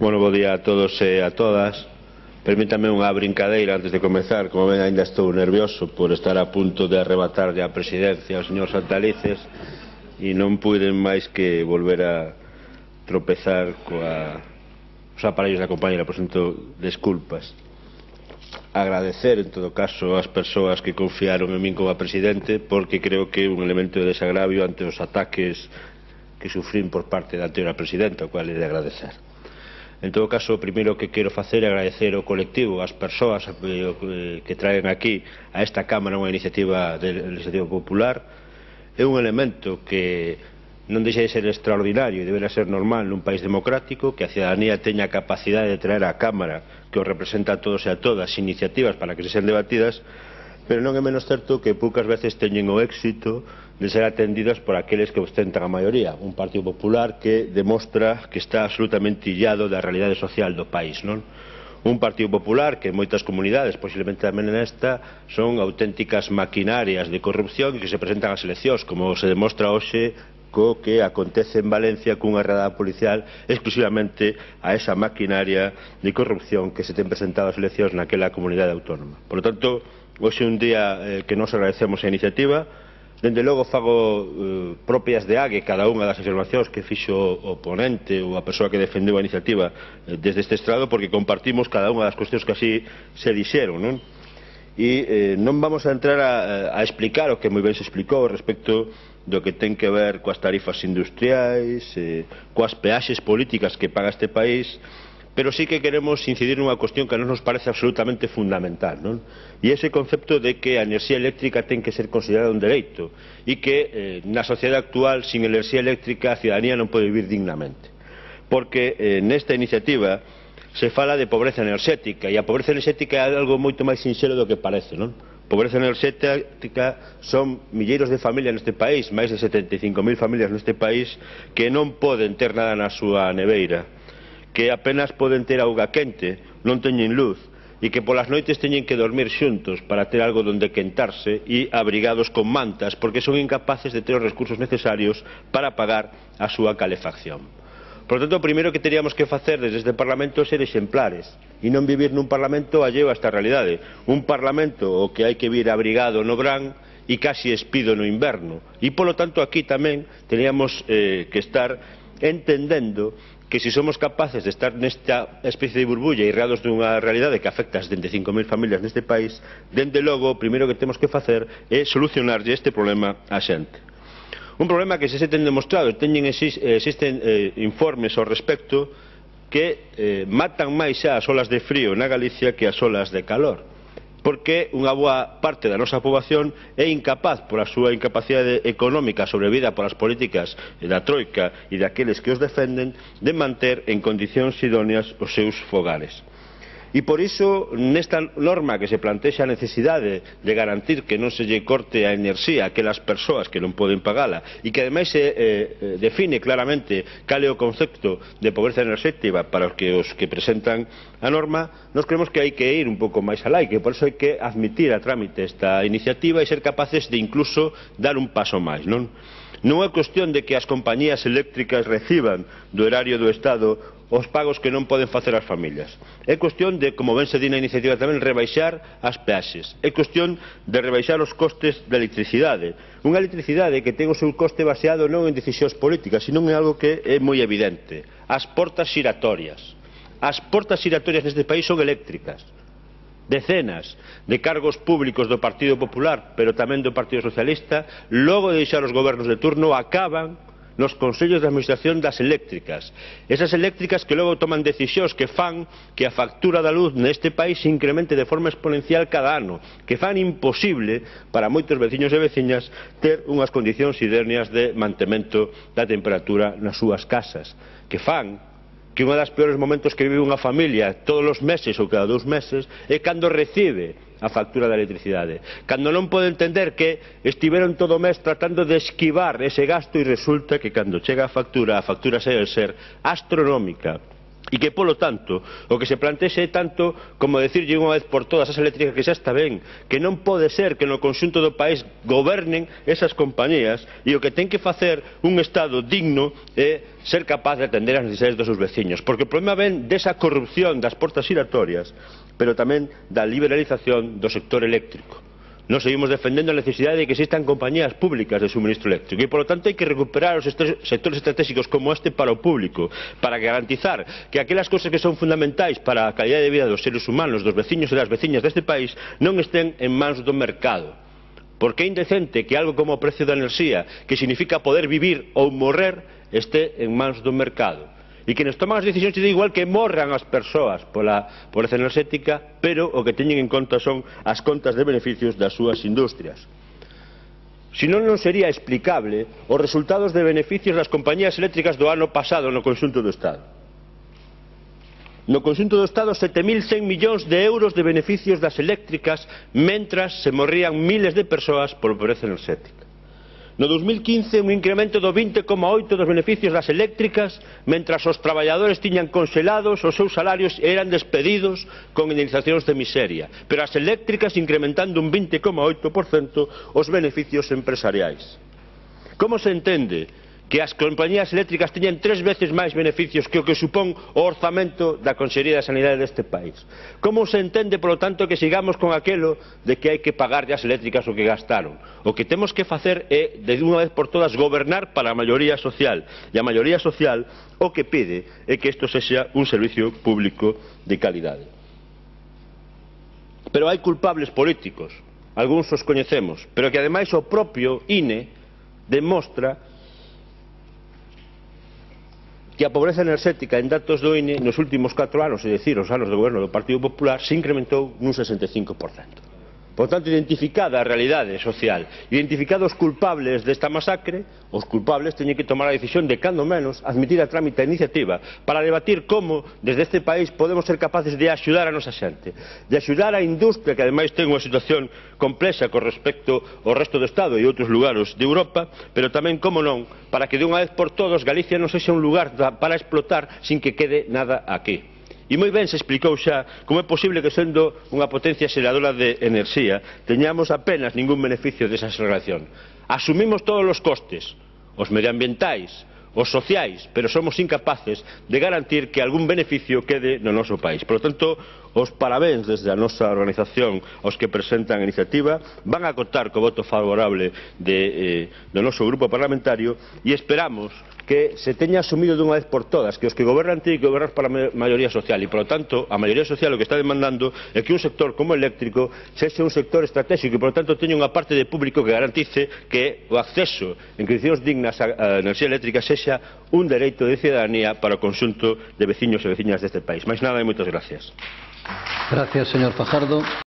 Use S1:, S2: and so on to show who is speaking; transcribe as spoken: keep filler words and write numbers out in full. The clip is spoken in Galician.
S1: Bueno, bo día a todos e a todas. Permítame unha brincadeira antes de comezar. Como ven, ainda estou nervioso por estar a punto de arrebatarlle a presidencia ao señor Santalices e non puiden máis que volver a tropezar coa os aparellos da compañera. Por tanto, desculpas. Agradecer, en todo caso, ás persoas que confiaron en min como a presidente, porque creo que é un elemento de desagravio ante os ataques que sufrín por parte da anterior presidenta, o cual é de agradecer. En todo caso, o primeiro que quero facer é agradecer ao colectivo, ás persoas que traen aquí a esta Cámara unha iniciativa de legislativa popular. É un elemento que non deixa de ser extraordinario e deberá ser normal nun país democrático, que a cidadanía teña a capacidade de traer á Cámara, que os representa a todos e a todas, iniciativas para que se sean debatidas, pero non é menos certo que poucas veces teñen o éxito de ser atendidas por aqueles que ostentan a maioría, un Partido Popular que demostra que está absolutamente illado da realidade social do país, non? Un Partido Popular que en moitas comunidades, posiblemente tamén nesta, son auténticas maquinarias de corrupción e que se presentan ás eleccións, como se demostra hoxe co que acontece en Valencia cunha redada policial exclusivamente a esa maquinaria de corrupción que se ten presentado ás eleccións naquela comunidade autónoma. Por lo tanto, hoxe é un día eh, que nos agradecemos a iniciativa. Dende logo fago eh, propias de Ague cada unha das afirmacións que fixo o ponente ou a persoa que defendeu a iniciativa eh, desde este estrado, porque compartimos cada unha das cuestións que así se dixeron, non? E eh, non vamos a entrar a, a explicar o que moi ben se explicou respecto do que ten que ver coas tarifas industriais, eh, coas peaxes políticas que paga este país, pero sí que queremos incidir nunha cuestión que a nos nos parece absolutamente fundamental, non? E ese concepto de que a enerxía eléctrica ten que ser considerada un dereito e que eh, na sociedade actual, sin enerxía eléctrica, a cidadanía non pode vivir dignamente. Porque eh, nesta iniciativa se fala de pobreza enerxética, e a pobreza enerxética é algo moito máis sinxelo do que parece, non? Pobreza enerxética son milleiros de familias neste país, máis de setenta e cinco mil familias neste país, que non poden ter nada na súa neveira, que apenas poden ter auga quente, non teñen luz, e que polas noites teñen que dormir xuntos para ter algo donde quentarse e abrigados con mantas, porque son incapaces de ter os recursos necesarios para pagar a súa calefacción. Por tanto, o primeiro que teríamos que facer desde este Parlamento é ser exemplares e non vivir nun Parlamento alleo a esta realidade, un Parlamento o que hai que vir abrigado no verán e casi espido no inverno. E, polo tanto, aquí tamén teríamos eh, que estar entendendo que se somos capaces de estar nesta especie de burbulla irreados dunha realidade que afecta a setenta e cinco mil familias neste país, dende logo, o primeiro que temos que facer é solucionarlle este problema á xente. Un problema que se se ten demostrado, teñen existen eh, informes ao respecto que eh, matan máis xa as olas de frío na Galicia que as olas de calor, porque unha boa parte da nosa poboación é incapaz, por a súa incapacidade económica sobrevida polas políticas da Troika e daqueles que os defenden, de manter en condicións idóneas os seus fogares. E por iso, nesta norma que se plantexa a necesidade de garantir que non se lle corte a enerxía a aquelas persoas que non poden pagala e que ademais se eh, define claramente cal é o concepto de pobreza enerxética para os que, os que presentan a norma, nos creemos que hai que ir un pouco máis alá e que por iso hai que admitir a trámite esta iniciativa e ser capaces de incluso dar un paso máis, non? Non é cuestión de que as compañías eléctricas reciban do erario do Estado os pagos que non poden facer as familias. É cuestión de, como ben se di na iniciativa tamén, rebaixar as peaxes. É cuestión de rebaixar os costes da electricidade. Unha electricidade que ten o seu coste baseado non en decisións políticas, sino en algo que é moi evidente. As portas xiratorias. As portas xiratorias neste país son eléctricas. Decenas de cargos públicos do Partido Popular, pero tamén do Partido Socialista, logo de deixar os gobernos de turno, acaban nos consellos de administración das eléctricas. Esas eléctricas que logo toman decisións que fan que a factura da luz neste país se incremente de forma exponencial cada ano, que fan imposible para moitos veciños e veciñas ter unhas condicións idóneas de mantemento da temperatura nas súas casas, que fan que unha das peores momentos que vive unha familia todos os meses ou cada dous meses é cando recibe a factura da electricidade, cando non pode entender que estiveron todo o mes tratando de esquivar ese gasto e resulta que cando chega a factura, a factura segue a ser astronómica E que, polo tanto, o que se plantexe é tanto como decirlle unha vez por todas as eléctricas que xa está ben, que non pode ser que no conxunto do país gobernen esas compañías, e o que ten que facer un Estado digno é ser capaz de atender as necesidades dos seus veciños, porque o problema ven desa corrupción das portas giratorias, pero tamén da liberalización do sector eléctrico. Nos seguimos defendendo a necesidade de que existan compañías públicas de suministro eléctrico e, polo tanto, hai que recuperar os sectores estratégicos como este para o público, para garantizar que aquelas cousas que son fundamentais para a calidade de vida dos seres humanos, dos veciños e das veciñas deste país, non estén en mans do mercado. Porque é indecente que algo como o precio da enerxía, que significa poder vivir ou morrer, este en mans do mercado. E que nos toman as decisións de igual que morran as persoas pola pobreza enerxética, pero o que teñen en conta son as contas de beneficios das súas industrias. Senón non sería explicable os resultados de beneficios das compañías eléctricas do ano pasado no conxunto do Estado. No conxunto do Estado, sete mil cen millóns de euros de beneficios das eléctricas, mentras se morrían miles de persoas por pobreza enerxética. No dos mil quince, un incremento do vinte coma oito dos beneficios das eléctricas, mentras os traballadores tiñan congelados os seus salarios e eran despedidos con indemnizacións de miseria, pero as eléctricas incrementando un vinte coma oito por cento os beneficios empresariais. Como se entende que as compañías eléctricas teñen tres veces máis beneficios que o que supón o orzamento da Consellería de Sanidade deste país? Como se entende, polo tanto, que sigamos con aquelo de que hai que pagarlle as eléctricas o que gastaron? O que temos que facer é, de unha vez por todas, gobernar para a maioría social. E a maioría social o que pide é que isto sexa un servicio público de calidade. Pero hai culpables políticos, algúns os coñecemos, pero que ademais o propio I N E demostra que a pobreza enerxética en datos do I N E nos últimos catro anos, é dicir, os anos do goberno do Partido Popular, se incrementou nun sesenta e cinco por cento. Por tanto, identificada a realidade social, identificados os culpables desta masacre, os culpables teñen que tomar a decisión de, cando menos, admitir a trámite a iniciativa para debatir como, desde este país, podemos ser capaces de axudar a nosa xente, de axudar a industria, que ademais ten unha situación complexa con respecto ao resto do Estado e outros lugares de Europa, pero tamén, como non, para que de unha vez por todos Galicia non sexa un lugar para explotar sin que quede nada aquí. E moi ben se explicou xa como é posible que, sendo unha potencia xeradora de enerxía, teñamos apenas ningún beneficio desa xeración. Asumimos todos os costes, os medioambientais, os sociais, pero somos incapaces de garantir que algún beneficio quede no noso país. Por lo tanto, os parabéns desde a nosa organización aos que presentan a iniciativa, van a contar co voto favorable de, eh, do noso grupo parlamentario e esperamos que se teña asumido dunha vez por todas que os que gobernan teñen que gobernar para a maioría social e, polo tanto, a maioría social o que está demandando é que un sector como o eléctrico sexa un sector estratégico e, polo tanto, teña unha parte de público que garantice que o acceso en condicións dignas á enerxía eléctrica sexa un dereito de cidadanía para o conxunto de veciños e veciñas deste país. Máis nada e moitas gracias.
S2: Gracias, señor Fajardo.